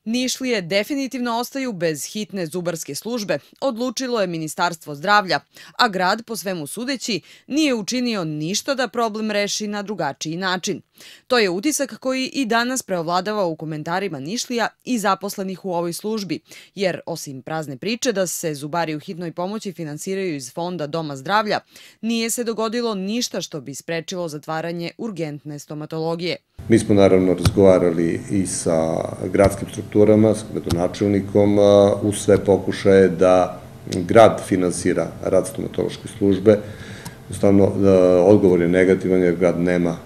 Nišlije definitivno ostaju bez hitne zubarske službe, odlučilo je Ministarstvo zdravlja, a grad, po svemu sudeći, nije učinio ništa da problem reši na drugačiji način. To je utisak koji i danas preovladava u komentarima Nišlija i zaposlenih u ovoj službi, jer osim prazne priče da se zubari u hitnoj pomoći finansiraju iz fonda Doma zdravlja, nije se dogodilo ništa što bi sprečilo zatvaranje urgentne stomatologije. Mi smo naravno razgovarali i sa gradskim strukturama, s gradonačelnikom, u sve pokušaje da grad finansira rad stomatološke službe. Jednostavno, odgovor je negativan jer grad nema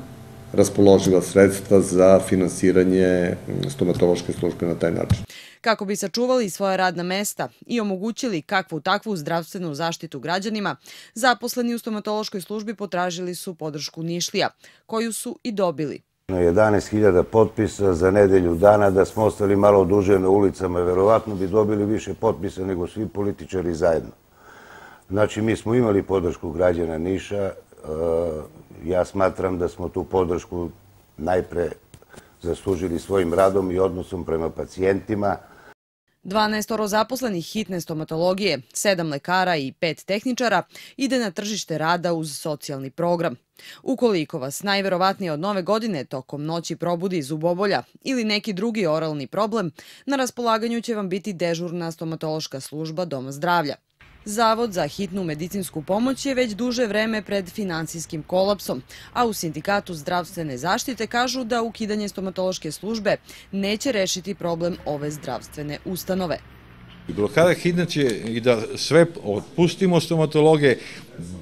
raspoloživa sredstva za finansiranje stomatološke službe na taj način. Kako bi sačuvali svoja radna mesta i omogućili kakvu takvu zdravstvenu zaštitu građanima, zaposleni u stomatološkoj službi potražili su podršku Nišlija, koju su i dobili. 11.000 potpisa za nedelju dana, da smo ostali malo duže na ulicama, verovatno bi dobili više potpisa nego svi političari zajedno. Znači, mi smo imali podršku građana Niša. Ja smatram da smo tu podršku najpre zaslužili svojim radom i odnosom prema pacijentima. 12 zaposlenih hitne stomatologije, 7 lekara i 5 tehničara ide na tržište rada uz socijalni program. Ukoliko vas najverovatnije od nove godine tokom noći probudi zubobolja ili neki drugi oralni problem, na raspolaganju će vam biti dežurna stomatološka služba Doma zdravlja. Zavod za hitnu medicinsku pomoć je već duže vreme pred finansijskim kolapsom, a u Sindikatu zdravstvene zaštite kažu da ukidanje stomatološke službe neće rešiti problem ove zdravstvene ustanove. Blokada hitne će i da sve otpustimo stomatologe,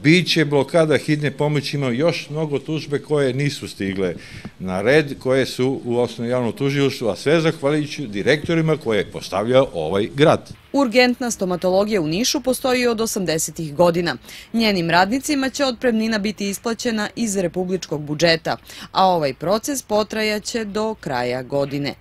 bit će blokada hitne pomoći, ima još mnogo tužbe koje nisu stigle na red, koje su u osnovnom javnom tužilaštvu, a sve zahvaljujući direktorima koje je postavljao ovaj grad. Urgentna stomatologija u Nišu postoji od 80-ih godina. Njenim radnicima će otpremnina biti isplaćena iz republičkog budžeta, a ovaj proces potrajaće do kraja godine.